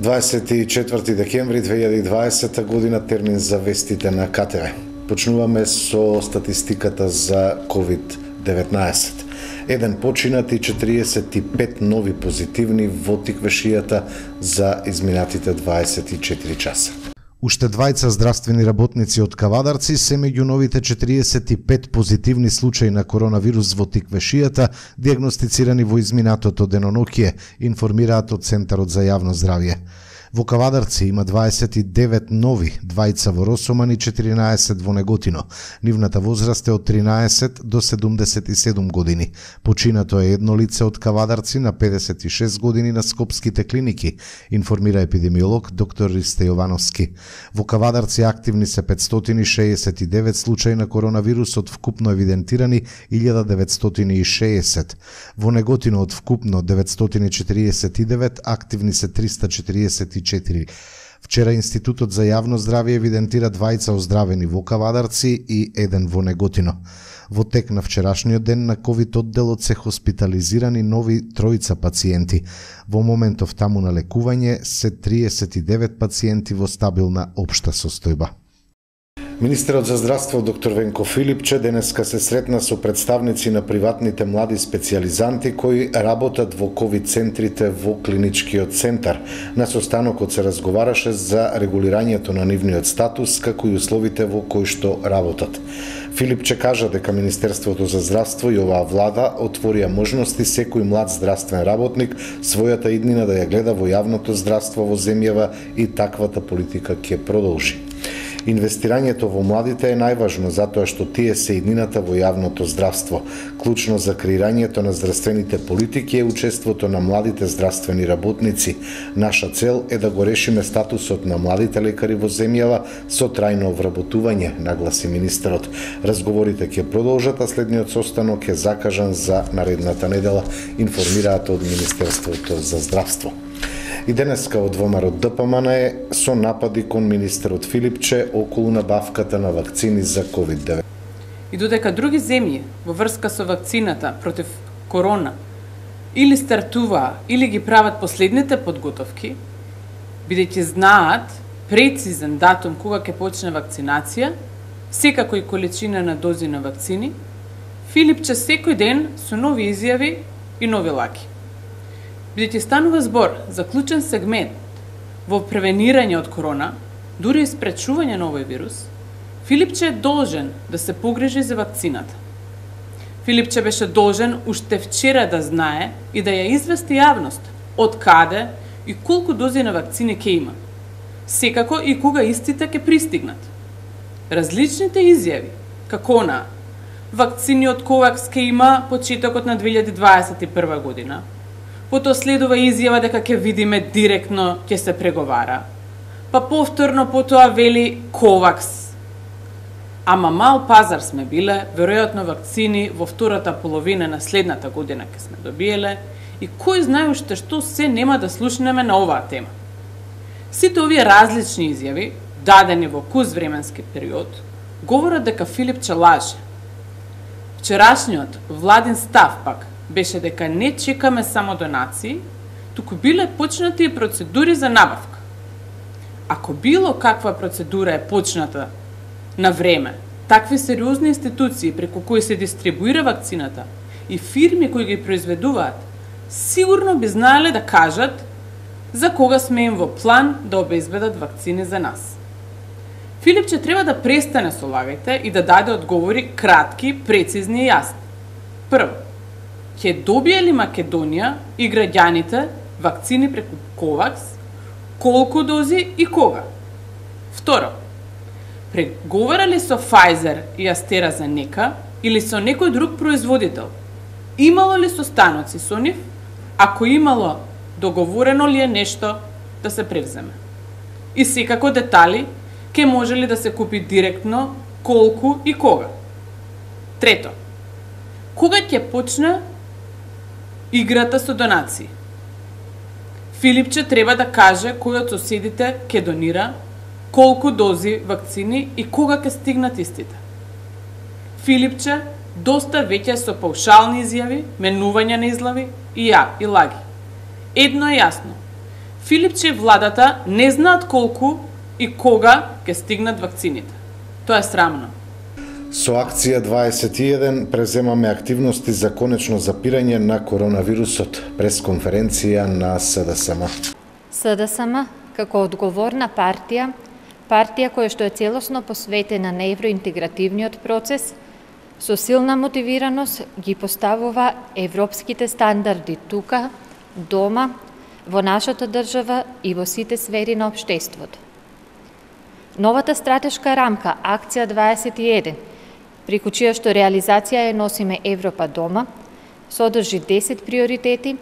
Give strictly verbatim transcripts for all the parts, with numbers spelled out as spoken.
дваесет и четврти декември две илјади и дваесета година, термин за вестите на К Т В. Почнуваме со статистиката за ковид деветнаесет. Еден починат и четириесет и пет нови позитивни во тиквешијата за изминатите дваесет и четири часа. Уште двајца здравствени работници од Кавадарци се меѓу новите четириесет и пет позитивни случаи на коронавирус во тиквешијата, диагностицирани во изминатото деноноќие, информираат од Центарот за јавно здравје. Во Кавадарци има дваесет и девет нови, двајца во Росоман и четиринаесет во Неготино. Нивната возраст е од тринаесет до седумдесет и седум години. Починато е едно лице од Кавадарци на педесет и шест години на Скопските клиники, информира епидемиолог доктор Ристе Јовановски. Во Кавадарци активни се петстотини и шеесет и девет случаи на коронавирус од вкупно евидентирани илјада деветстотини и шеесет. Во Неготино од вкупно деветстотини и четириесет и девет, активни се триста четириесет и четири. Вчера Институтот за јавно здравје евидентира двајца оздравени во Кавадарци и еден во Неготино. Во тек на вчерашниот ден на ковид одделот се хоспитализирани нови тројца пациенти. Во моментов таму на лекување се триесет и девет пациенти во стабилна општа состојба. Министерот за здравство доктор Венко Филипче денеска се сретна со представници на приватните млади специјализанти кои работат во ковид центрите во клиничкиот центар. На состанокот се разговараше за регулирањето на нивниот статус како и условите во кои што работат. Филипче кажа дека Министерството за здравство и оваа влада отворија можности секој млад здравствен работник својата иднина да ја гледа во јавното здравство во земјава и таквата политика ќе продолжи. Инвестирањето во младите е најважно затоа што тие се иднината во јавното здравство. Клучно за креирањето на здравствените политики е учеството на младите здравствени работници. Наша цел е да го решиме статусот на младите лекари во земјава со трајно вработување, нагласи министерот. Разговорите ќе продолжат, а следниот состанок е закажан за наредната недела, информираат од Министерството за здравство. И денеска од ВМРО Д П М Н е со напади кон министерот Филипче околу набавката на вакцини за ковид деветнаесет. И додека други земји во врска со вакцината против корона или стартуваа или ги прават последните подготовки, бидејќи знаат прецизен датум кога ќе почне вакцинација, секако и количина на дози на вакцини, Филипче секој ден со нови изјави и нови лаки. Бидејќи станува збор за клучен сегмент во превенирање од корона, дури и спречување на овој вирус, Филипче е должен да се погрижи за вакцината. Филипче беше должен уште вчера да знае и да ја извести јавност од каде и колку дози на вакцини ќе има, секако и кога истите ќе пристигнат. Различните изјави, како на вакцини од Ковакс ќе има почетокот на две илјади дваесет и прва година, потоа следува изјава дека ќе видиме директно ќе се преговара. Па повторно потоа вели Ковакс. Ама мал пазар сме биле, веројатно вакцини во втората половина на следната година ќе сме добиеле и кој знае уште што се нема да слушнеме на оваа тема. Сите овие различни изјави, дадени во куз временски период, говорат дека Филипче лаже. Вчерашниот владин став пак беше дека не чекаме само донации, туку биле почнати и процедури за набавка. Ако било каква процедура е почната на време, такви сериозни институции преку кои се дистрибуира вакцината и фирми кои ги произведуваат, сигурно би знаеле да кажат за кога сме им во план да обезбедат вакцини за нас. Филипче треба да престане со лагајте и да даде одговори кратки, прецизни и јасни. Прво, ќе добие ли Македонија и граѓаните вакцини преку Ковакс, колку дози и кога? Второ, преговара ли со Pfizer и AstraZeneca или со некој друг производител? Имало ли состаноци со нив? Ако имало, договорено ли е нешто да се превземе? И секако детали, ке може ли да се купи директно, колку и кога? Трето, кога ќе почне играта со донации? Филипче треба да каже кој од соседите ќе донира, колку дози вакцини и кога ќе стигнат истите. Филипче доста веќе со паушални изјави, менување на излави и ја и лаги. Едно е јасно. Филипче и владата не знаат колку и кога ќе стигнат вакцините. Тоа е срамно. Со акција дваесет и еден преземаме активности за конечно запирање на коронавирусот, пресконференција на СДСМ. СДСМ, како одговорна партија, партија која што е целосно посветена на евроинтегративниот процес, со силна мотивираност ги поставува европските стандарди тука, дома, во нашата држава и во сите сфери на општеството. Новата стратешка рамка, акција дваесет и еден, преку чија што реализација ја носиме Европа дома, содржи десет приоритети,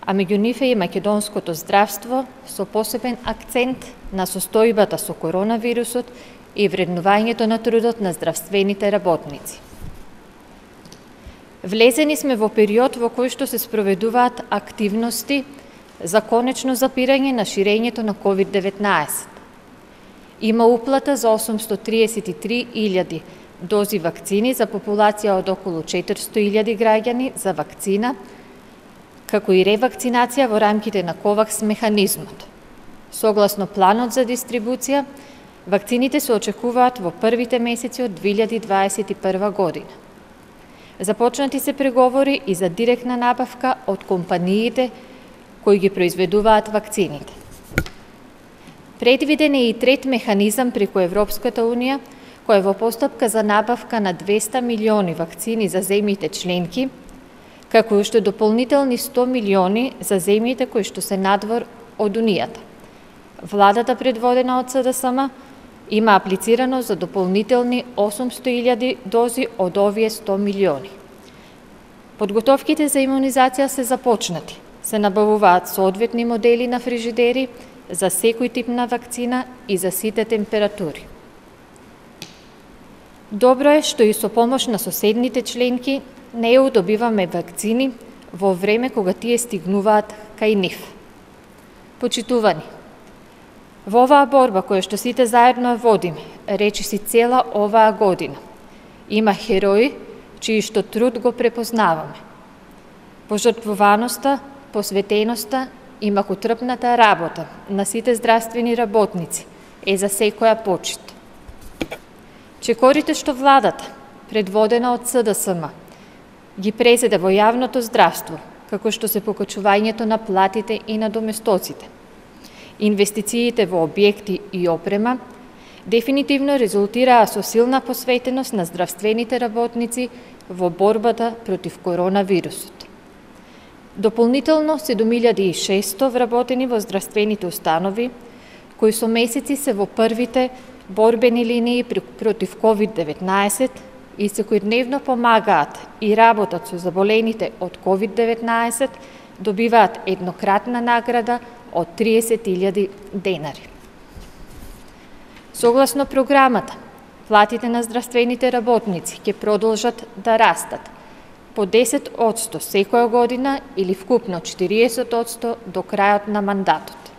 а меѓу нив е и македонското здравство со посебен акцент на состојбата со коронавирусот и вреднувањето на трудот на здравствените работници. Влезени сме во период во кој што се спроведуваат активности за конечно запирање на ширењето на ковид деветнаесет. Има уплата за осумсто триесет и три илјади дози вакцини за популација од околу четиристо илјади граѓани за вакцина, како и ревакцинација во рамките на ковакс механизмот. Согласно планот за дистрибуција, вакцините се очекуваат во првите месеци од две илјади дваесет и прва година. Започнати се преговори и за директна набавка од компаниите кои ги произведуваат вакцините. Предвиден е и трет механизам преку Европската Унија, која е во постапка за набавка на двеста милиони вакцини за земјите членки, како и уште дополнителни сто милиони за земјите кои што се надвор од Унијата. Владата, предводена од СДСМ, има аплицирано за дополнителни осумсто илјади дози од овие сто милиони. Подготовките за имунизација се започнати. Се набавуваат соодветни модели на фрижидери за секој тип на вакцина и за сите температури. Добро е што и со помош на соседните членки не ја добиваме вакцини во време кога тие стигнуваат кај нив. Почитувани, во оваа борба која што сите заедно ја водиме, речиси цела оваа година, има херои чиј што труд го препознаваме. Пожртвуваноста, посветеноста и макотрпната работа на сите здравствени работници е за секоја почит. Чекорите што владата, предводена од СДСМ, ги презеде во јавното здравство, како што се покачувањето на платите и на доместоците, инвестициите во објекти и опрема, дефинитивно резултираа со силна посветеност на здравствените работници во борбата против коронавирусот. Дополнително седум илјади и шестоста вработени во здравствените установи, кои со месеци се во првите борбени линии против ковид деветнаесет и секојдневно помагаат и работат со заболените од ковид деветнаесет, добиваат еднократна награда од триесет илјади денари. Согласно програмата, платите на здравствените работници ќе продолжат да растат по десет одсто секоја година или вкупно четириесет одсто до крајот на мандатот.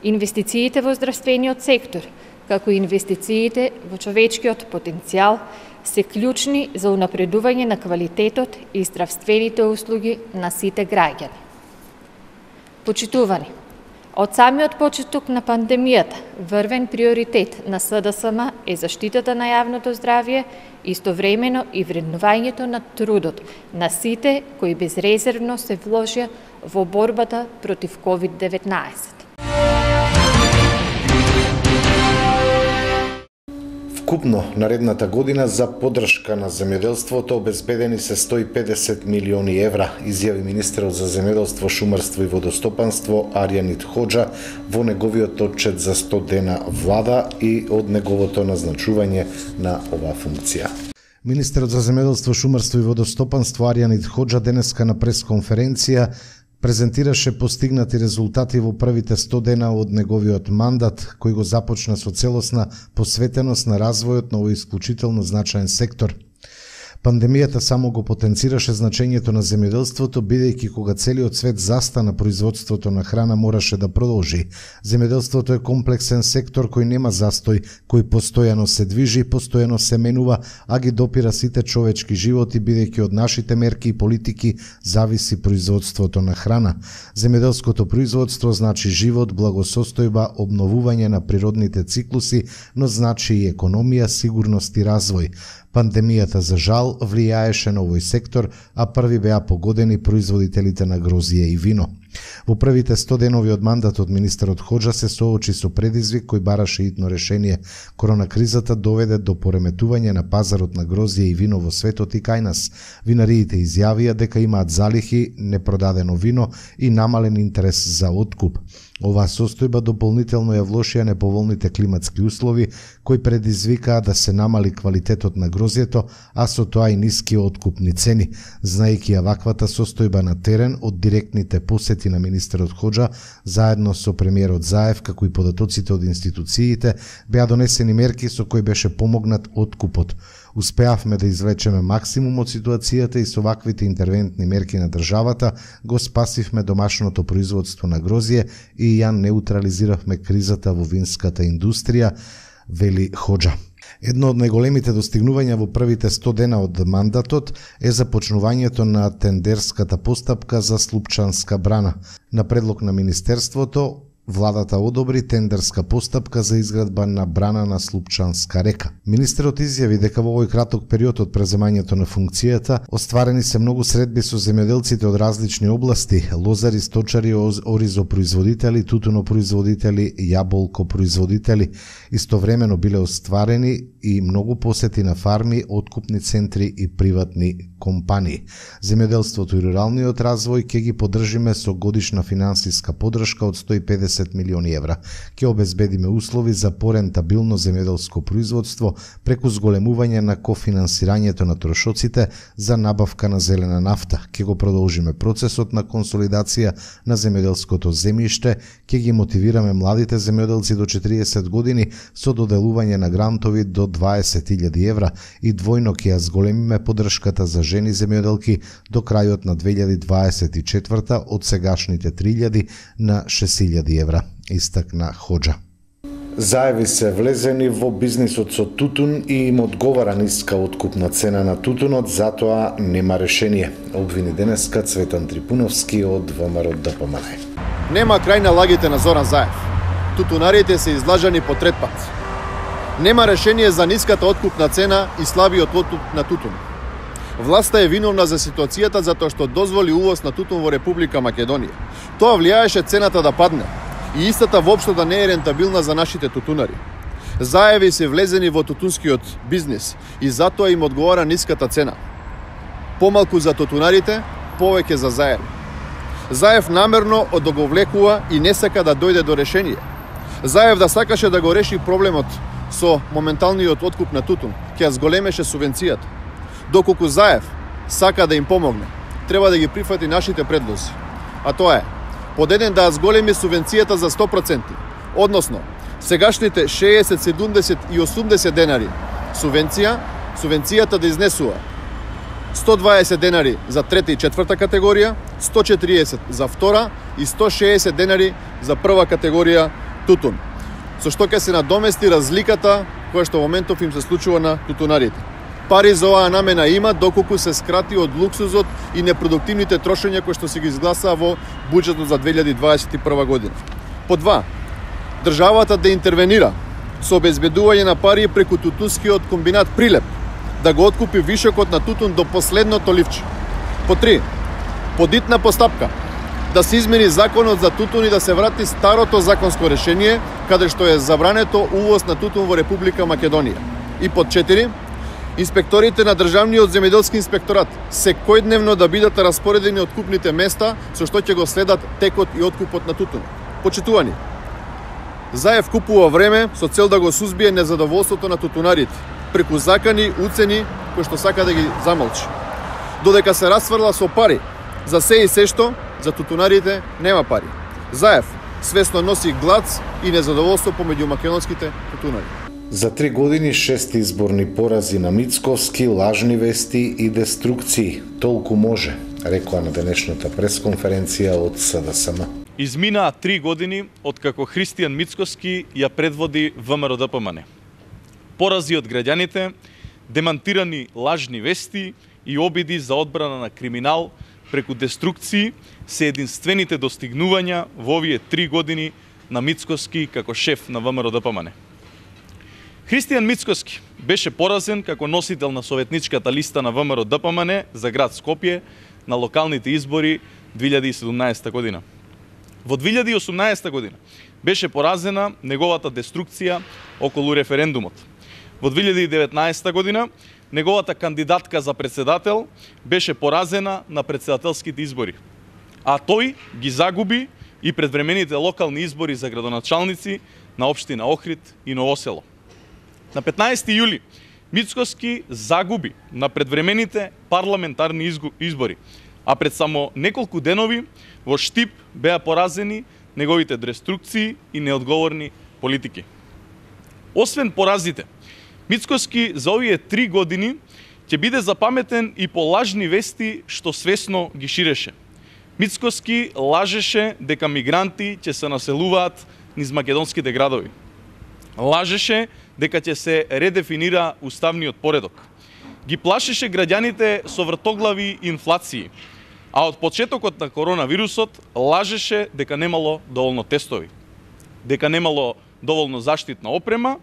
Инвестициите во здравствениот сектор, како и инвестициите во човечкиот потенцијал, се клучни за унапредување на квалитетот и здравствените услуги на сите граѓани. Почитувани, од самиот почеток на пандемијата, врвен приоритет на СДСМ е заштитата на јавното здравје, истовремено и вреднувањето на трудот на сите кои безрезервно се вложија во борбата против ковид деветнаесет. Вкупно наредната година за поддршка на земјоделството обезбедени се сто и педесет милиони евра, изјави министерот за земјоделство, шумарство и водостопанство Арјанит Хоџа во неговиот отчет за сто дена влада и од неговото назначување на оваа функција. Министерот за земјоделство, шумарство и водостопанство Арјанит Хоџа денеска на пресконференција презентираше постигнати резултати во првите сто дена од неговиот мандат, кој го започна со целосна посветеност на развојот на овој исклучително значаен сектор. Пандемијата само го потенцираше значењето на земјоделството, бидејќи кога целиот свет застана производството на храна мораше да продолжи. Земјоделството е комплексен сектор кој нема застој, кој постојано се движи, постојано се менува, а ги допира сите човечки животи, бидејќи од нашите мерки и политики зависи производството на храна. Земјоделското производство значи живот, благосостојба, обновување на природните циклуси, но значи и економија, сигурност и развој. Пандемијата, за жал, влијаеше на овој сектор, а први беа погодени производителите на грозје и вино. Во првите сто денови од мандатот министерот Хоџа се соочи со предизвик кој бараше итно решение. Коронакризата доведе до пореметување на пазарот на грозје и вино во светот и кај нас. Винариите изјавија дека имаат залихи, непродадено вино и намален интерес за откуп. Оваа состојба дополнително ја влошија неповолните климатски услови кои предизвикаа да се намали квалитетот на грозјето, а со тоа и ниски откупни цени. Знаејќи ја ваквата состојба на терен од директните посети на министерот Хоџа, заедно со премиерот Заев, како и податоците од институциите, беа донесени мерки со кои беше помогнат откупот. Успеавме да извлечеме максимум од ситуацијата и со ваквите интервентни мерки на државата го спасивме домашното производство на грозје и ја неутрализиравме кризата во винската индустрија, вели Хоџа. Едно од најголемите достигнувања во првите сто дена од мандатот е започнувањето на тендерската постапка за Слупчанска брана. На предлог на Министерството, владата одобри тендерска постапка за изградба на брана на Слупчанска река. Министерот изјави дека во овој краток период од преземањето на функцијата остварени се многу средби со земјоделците од различни области: лозари, сточари, оризопроизводители, тутунопроизводители, јаболкопроизводители. Истовремено биле остварени и многу посети на фарми, откупни центри и приватни компании. Земјоделството и руралниот развој ќе ги поддржиме со годишна финансиска поддршка од сто и педесет милиони евра. Ќе обезбедиме услови за порентабилно земјоделско производство преку зголемување на кофинансирањето на трошоците за набавка на зелена нафта. Ќе го продолжиме процесот на консолидација на земјоделското земјиште, ќе ги мотивираме младите земјоделци до четириесет години со доделување на грантови до дваесет илјади евра и двојно ќе ја зголемиме поддршката за жени земјоделки до крајот на две илјади дваесет и четврта од сегашните три илјади на шест илјади евра, истакна Хоџа. Заеви се влезени во бизнисот со тутун и им одговара ниска откупна цена на тутунот, затоа нема решение. Обвини денеска Цветан Трипуновски од ВМРО Д П М Н. Нема крај на лагите на Зоран Заев. Тутунарите се излажани по трет пат. Нема решение за ниската откупна цена и слабиот откуп на тутун. Власта е виновна за ситуацијата затоа што дозволи увоз на тутун во Република Македонија. Тоа влијаеше цената да падне и истата воопшто да не е рентабилна за нашите тутунари. Заеви се влезени во тутунскиот бизнис и затоа им одговара ниската цена. Помалку за тутунарите, повеќе за Заеви. Заев намерно одоговлекува и не сака да дојде до решение. Заев да сакаше да го реши проблемот со моменталниот откуп на тутун, ќе ја зголемеше субвенцијата. Доколку Заев сака да им помогне, треба да ги прифати нашите предлози. А тоа е, под еден да зголеми субвенцијата за сто проценти, односно сегашните шеесет, седумдесет и осумдесет денари субвенција, субвенцијата да изнесува сто дваесет денари за трета и четврта категорија, сто четириесет за втора и сто шеесет денари за прва категорија тутун, со што ќе се надомести разликата која што во моментов им се случува на тутунарите. Пари за оваа намена има доколку се скрати од луксузот и непродуктивните трошења кои што се ги изгласаа во буџетот за две илјади дваесет и прва година. По два, државата да интервенира со обезбедување на пари преку тутунскиот комбинат Прилеп, да го откупи вишокот на тутун до последното ливче. По три, подитна постапка, да се измени законот за тутун и да се врати старото законско решение, каде што е забрането увоз на тутун во Република Македонија. И под четири, инспекторите на Државниот земјоделски инспекторат секојдневно да бидат распоредени откупните места со што ќе го следат текот и откупот на тутун. Почитувани, Заев купува време со цел да го сузбие незадоволството на тутунарите преку закани, уцени кои што сака да ги замолчи. Додека се расфрла со пари за се и се што, за тутунарите нема пари. Заев свесно носи глад и незадоволство помеѓу македонските тутунари. За три години шест изборни порази на Мицковски, лажни вести и деструкции. Толку може, рекоа на денешната пресконференција од СДСМ. Изминаа три години од како Христијан Мицковски ја предводи ВМРО-ДПМН. Порази од граѓаните, демантирани лажни вести и обиди за одбрана на криминал преку деструкции се единствените достигнувања во овие три години на Мицковски како шеф на ВМРО-ДПМН. Христијан Мицковски беше поразен како носител на советничката листа на ВМРО-ДПМН за град Скопје на локалните избори две илјади и седумнаесета година. Во две илјади и осумнаесета година беше поразена неговата деструкција околу референдумот. Во две илјади и деветнаесета година неговата кандидатка за председател беше поразена на председателските избори, а тој ги загуби и предвремените локални избори за градоначалници на општина Охрид и Ново село. На петнаесети јули Мицковски загуби на предвремените парламентарни избори, а пред само неколку денови во Штип беа поразени неговите деструкции и неодговорни политики. Освен поразите, Мицковски за овие три години ќе биде запаметен и по лажни вести што свесно ги ширеше. Мицковски лажеше дека мигранти ќе се населуваат низ македонските градови. Лажеше дека ќе се редефинира уставниот поредок. Ги плашеше граѓаните со вртоглави инфлации, а од почетокот на коронавирусот лажеше дека немало доволно тестови, дека немало доволно заштитна опрема,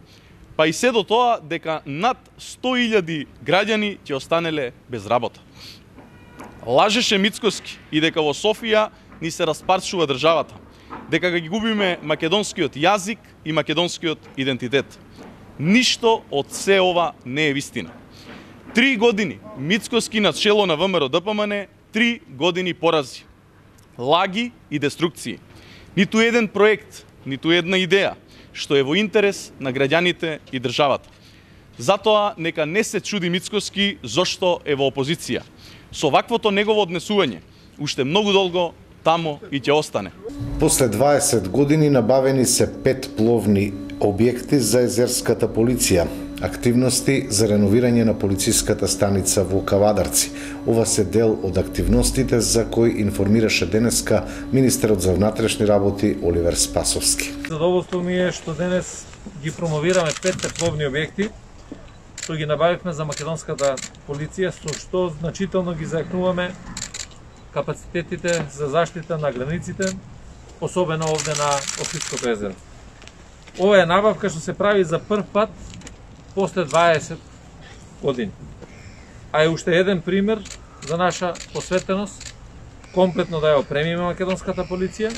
па и се до тоа дека над сто илјади граѓани ќе останеле без работа. Лажеше Мицковски и дека во Софија ни се распарчува државата, дека ги губиме македонскиот јазик и македонскиот идентитет. Ништо од се ова не е вистина. Три години Мицковски на чело на ВМРО-ДПМН, три години порази, лаги и деструкции. Ниту еден проект, ниту една идеја што е во интерес на граѓаните и државата. Затоа нека не се чуди Мицковски зошто е во опозиција. Со ваквото негово однесување, уште многу долго тамо и ќе остане. После дваесет години набавени се пет пловни објекти за езерската полиција. Активности за реновирање на полициската станица во Кавадарци. Ова се дел од активностите за кои информираше денеска министерот за внатрешни работи Оливер Спасовски. Задоволство ми е што денес ги промовираме петте пловни објекти што ги набавивме за македонската полиција, со што значително ги зајакнуваме капацитетите за заштита на границите, особено овде на Охридското езеро. Ова е набавка што се прави за прв пат после дваесет години. А е уште еден пример за наша посветеност, комплетно да ја опремиме македонската полиција,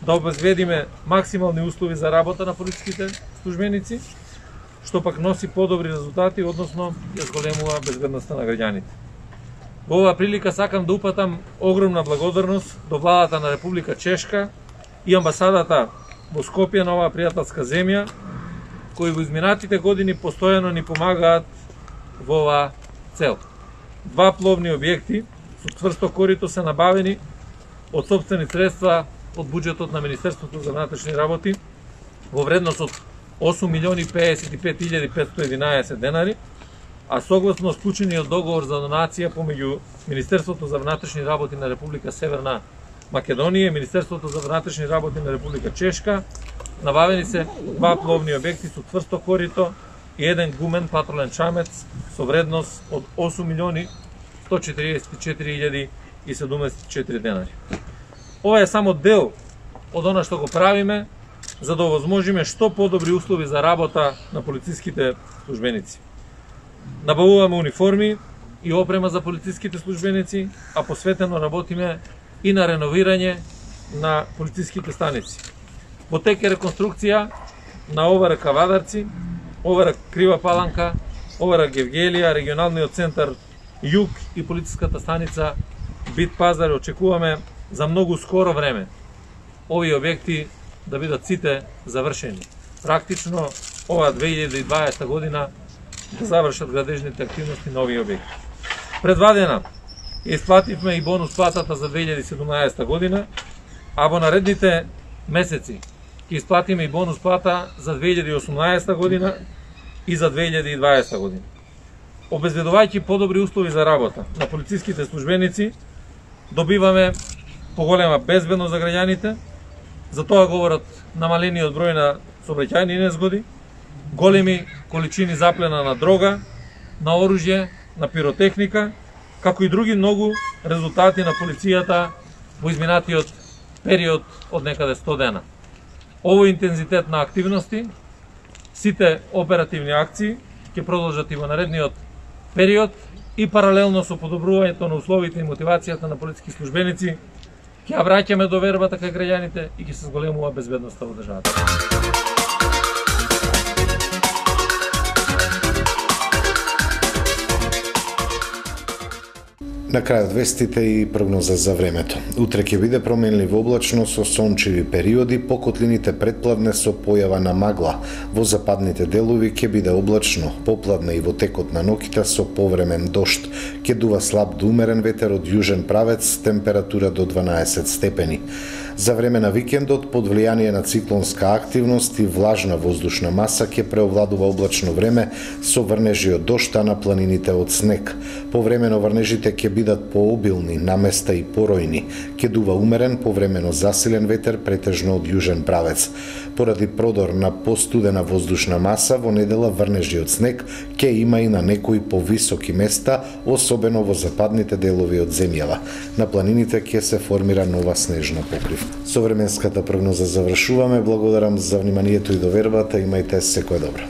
да обезбедиме максимални услови за работа на полициските службеници, што пак носи подобри резултати, односно ја зголемува безбедноста на граѓаните. Во оваа прилика сакам да упатам огромна благодарност до владата на Република Чешка и амбасадата во Скопје на оваа пријателска земја, кои во изминатите години постојано ни помагаат во оваа цел. Два пловни објекти со цврсто корито се набавени од сопствени средства од буџетот на Министерството за внатрешни работи во вредност од осум милиони педесет и пет илјади петстотини и единаесет денари, а согласно склучениот договор за донација помеѓу Министерството за внатрешни работи на Република Северна Македонија и Министерството за внатрешни работи на Република Чешка, набавени се два пловни објекти со цврсто корито и еден гумен патролен чамец со вредност од осум милиони сто четиридесет и четири илјади и седумдесет и четири денари. Ова е само дел од она што го правиме за да овозможиме што подобри услови за работа на полициските службеници. Набавуваме униформи и опрема за полициските службеници, а посветено работиме и на реновирање на полициските станици. Во тек е реконструкција на ОВР Кавадарци, ОВР Крива Паланка, ОВР Гевгелија, регионалниот центар Југ и полициската станица Бит Пазар. Очекуваме за многу скоро време овие објекти да бидат сите завршени. Практично ова две илјади и дваесета година да завршат градежните активности на овие објекти. Предвадена исплативме и бонус платата за две илјади и седумнаесета година, а во наредните месеци ќе исплатиме и бонус плата за две илјади и осумнаесета година и за две илјади и дваесетта година. Обезбедувајќи подобри услови за работа на полициските службеници, добиваме поголема безбедност за граѓаните, за тоа говорат намалениот број на сообраќајни незгоди, големи количини заплена на дрога, на оружје, на пиротехника, како и други многу резултати на полицијата во изминатиот период од некаде сто дена. Овој интензитет на активности, сите оперативни акции ќе продолжат и во наредниот период и паралелно со подобрувањето на условите и мотивацијата на полициски службеници ќе ја враќаме довербата кај граѓаните и ќе се зголемува безбедноста во државата. На крајот вестите и прогноза за времето. Утре ќе биде променливо облачно со сончеви периоди, по котлините предпладне со појава на магла. Во западните делови ќе биде облачно, попладне и во текот на ноќта со повремен дожд. Ќе дува слаб до умерен ветер од јужен правец, температура до дванаесет степени. За време на викендот, под влијание на циклонска активност и влажна воздушна маса, ќе преовладува облачно време со врнежи од дожд, а на планините од снег. Повремено врнежите ќе бидат пообилни, наместа и поројни. Ќе дува умерен, повремено засилен ветер, претежно од јужен правец. Поради продор на постудена воздушна маса, во недела врнежи од снег ќе има и на некои повисоки места, особено во западните делови од земјава. На планините ќе се формира нова снежна покрив. Со временската прогноза завршуваме. Благодарам за вниманието и довербата. Имајте секое добро.